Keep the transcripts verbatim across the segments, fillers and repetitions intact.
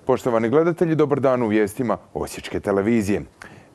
Poštovani gledatelji, dobar dan u vijestima Osječke televizije.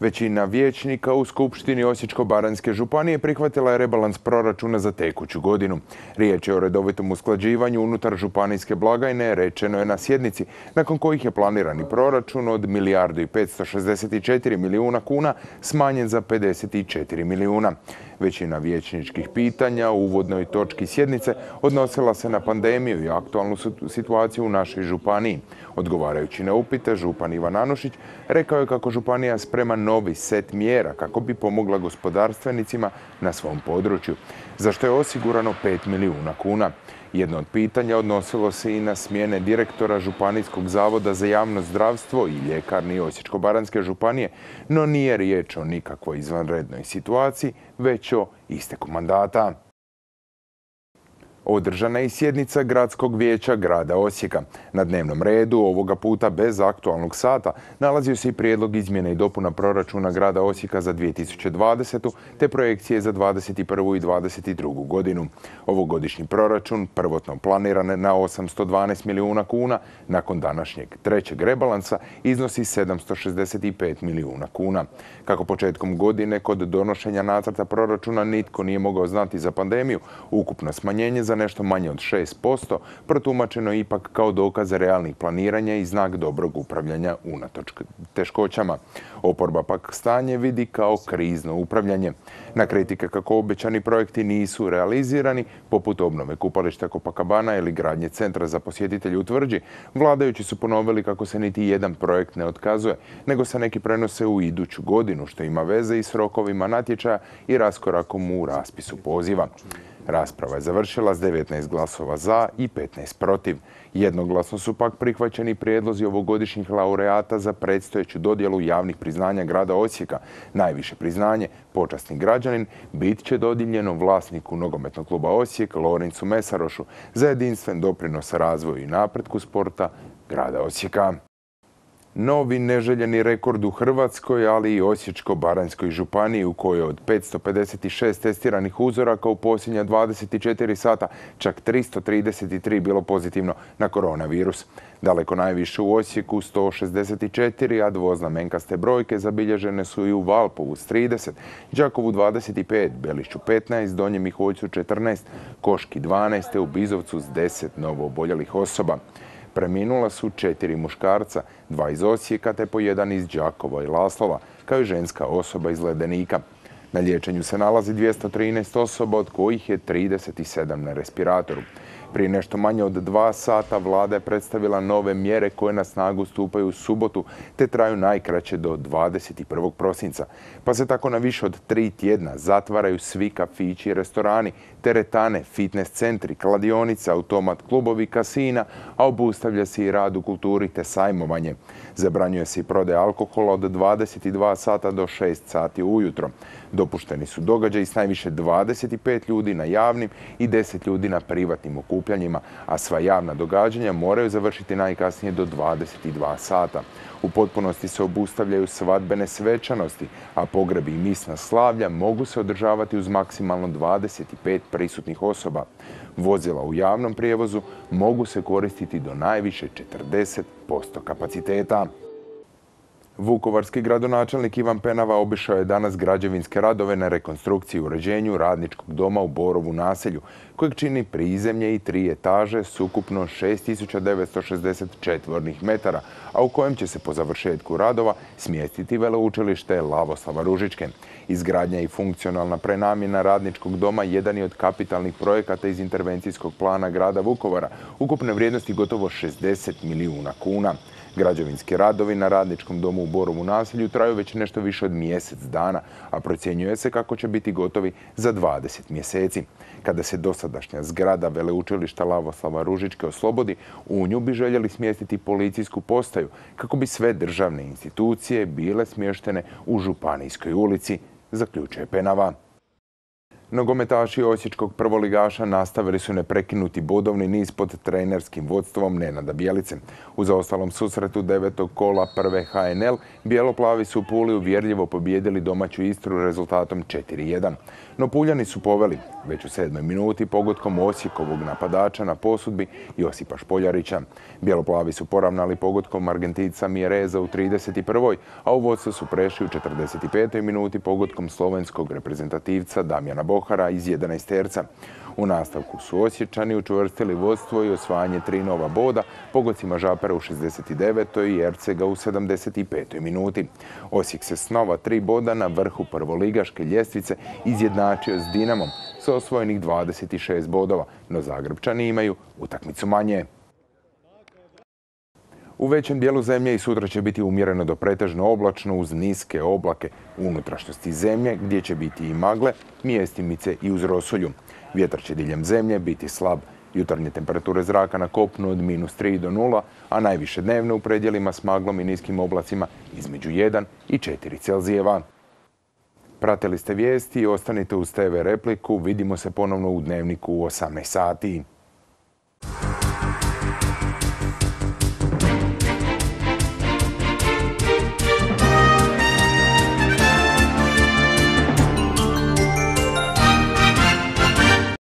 Većina vijećnika u Skupštini Osječko-baranjske županije prihvatila je rebalans proračuna za tekuću godinu. Riječ je o redovitom usklađivanju unutar županijske blagajne, rečeno je na sjednici, nakon kojih je planirani proračun od milijardu i petsto šezdeset četiri milijuna kuna smanjen za pedeset četiri milijuna. Većina vijećničkih pitanja u uvodnoj točki sjednice odnosila se na pandemiju i aktualnu situaciju u našoj županiji. Odgovarajući na upite, župan Ivan Anušić rekao je kako županija sprema novi set mjera kako bi pomogla gospodarstvenicima na svom području, za što je osigurano pet milijuna kuna. Jedno od pitanja odnosilo se i na smjene direktora Županijskog zavoda za javno zdravstvo i ljekarni Osječko-baranjske županije, no nije riječ o nikakvoj izvanrednoj situaciji, već o isteku mandata. Održana je i sjednica Gradskog vijeća grada Osijeka. Na dnevnom redu, ovoga puta bez aktualnog sata, nalazio se i prijedlog izmjene i dopuna proračuna grada Osijeka za dvije tisuće dvadesetu. te projekcije za dvadeset prvu i dvadeset drugu godinu. Ovogodišnji proračun, prvotno planiran na osamsto dvanaest milijuna kuna, nakon današnjeg trećeg rebalansa iznosi sedamsto šezdeset pet milijuna kuna. Kako početkom godine kod donošenja nacrta proračuna nitko nije mogao znati za pandemiju, ukupno smanjenje za nešto manje od šest posto protumačeno ipak kao dokaz realnih planiranja i znak dobrog upravljanja unatoč teškoćama. Oporba pak stanje vidi kao krizno upravljanje. Na kritike kako obećani projekti nisu realizirani, poput obnove kupališta Copacabana ili gradnje centra za posjetitelje u Tvrđi, vladajući su ponovili kako se niti jedan projekt ne otkazuje, nego se neki prenose u iduću godinu, što ima veze i s rokovima natječaja i raskorakom u raspisu poziva. Rasprava je završila s devetnaest glasova za i petnaest protiv. Jednoglasno su pak prihvaćeni prijedlozi ovogodišnjih laureata za predstojeću dodjelu javnih priznanja grada Osijeka. Najviše priznanje, počasni građanin, bit će dodijeljeno vlasniku nogometnog kluba Osijek, Lorencu Mesarošu, za jedinstven doprinos razvoju i napretku sporta grada Osijeka. Novi neželjeni rekord u Hrvatskoj, ali i Osječko-baranjskoj županiji, u kojoj od petsto pedeset šest testiranih uzoraka u posljednja dvadeset četiri sata čak tristo trideset tri bilo pozitivno na koronavirus. Daleko najviše u Osijeku sto šezdeset četiri, a dvoznamenkaste brojke zabilježene su i u Valpovu s trideset, Đakovu dvadeset pet, Belišću petnaest, Donjem Miholjcu četrnaest, Koški dvanaest, te u Bizovcu s deset novooboljelih osoba. Preminula su četiri muškarca, dva iz Osijeka te po jedan iz Đakova i Laslova, kao i ženska osoba iz Ledenika. Na liječenju se nalazi dvjesto trinaest osoba, od kojih je trideset sedam na respiratoru. Prije nešto manje od dva sata vlada je predstavila nove mjere koje na snagu stupaju u subotu te traju najkraće do dvadeset prvog prosinca. Pa se tako na više od tri tjedna zatvaraju svi kafići i restorani, teretane, fitness centri, kladionice, automat klubovi, kasina, a obustavlja se i rad u kulturi te sajmovanje. Zabranjuje se i prodaja alkohola od dvadeset dva sata do šest sati ujutro. Dopušteni su događaji s najviše dvadeset pet ljudi na javnim i deset ljudi na privatnim okupljanjima, a sva javna događanja moraju završiti najkasnije do dvadeset dva sata. U potpunosti se obustavljaju svadbene svečanosti, a pogrebi i misna slavlja mogu se održavati uz maksimalno dvadeset pet prisutnih osoba. Vozila u javnom prijevozu mogu se koristiti do najviše četrdeset posto kapaciteta. Vukovarski gradonačelnik Ivan Penava obišao je danas građevinske radove na rekonstrukciji i uređenju radničkog doma u Borovu naselju, kojeg čini prizemlje i tri etaže s ukupno šest tisuća devetsto šezdeset četvornih metara, a u kojem će se po završetku radova smjestiti veleučilište Lavoslava Ružičke. Izgradnja i funkcionalna prenamjena radničkog doma jedan je od kapitalnih projekata iz intervencijskog plana grada Vukovara, ukupne vrijednosti gotovo šezdeset milijuna kuna. Građevinski radovi na radničkom domu u Borovu naselju traju već nešto više od mjesec dana, a procjenjuje se kako će biti gotovi za dvadeset mjeseci. Kada se dosadašnja zgrada veleučilišta Lavoslava Ružičke oslobodi, u nju bi željeli smjestiti policijsku postaju kako bi sve državne institucije bile smještene u Županijskoj ulici, zaključuje Penava. Nogometaši osječkog prvoligaša nastavili su neprekinuti bodovni niz pod trenerskim vodstvom Nenada Bjelice. U zaostalom susretu devetog kola prve H N L, bijeloplavi su u Puli uvjerljivo pobijedili domaću Istru rezultatom četiri jedan. No Puljani su poveli već u sedmoj minuti pogodkom Osijekovog napadača na posudbi Josipa Špoljarića. Bijeloplavi su poravnali pogodkom Argentinca Mjereza u trideset prvoj, a u vodstvo su prešli u četrdeset petoj minuti pogodkom slovenskog reprezentativca Damjana Bohara iz jedanaesterca. U nastavku su Osječani učvrstili vodstvo i osvajanje tri nova boda pogodcima Žapera u šezdeset devetoj i Ercega u sedamdeset petoj minuti. Osijek se s nova tri boda na vrhu prvoligaške ljestvice izjednačio s Dinamom sa osvojenih dvadeset šest bodova, no Zagrebčani imaju utakmicu manje. U većem dijelu zemlje i sutra će biti umjereno do pretežno oblačno uz niske oblake u unutrašnjosti zemlje gdje će biti i magle, mjestimice i uz rosulju. Vjetar će diljem zemlje biti slab. Jutarnje temperature zraka na kopnu od minus tri do nula, a najviše dnevno u predjelima s maglom i niskim oblacima između jedan i četiri Celzijeva. Pratili ste vijesti i ostanite uz T V Repliku. Vidimo se ponovno u Dnevniku u osamnaest sati.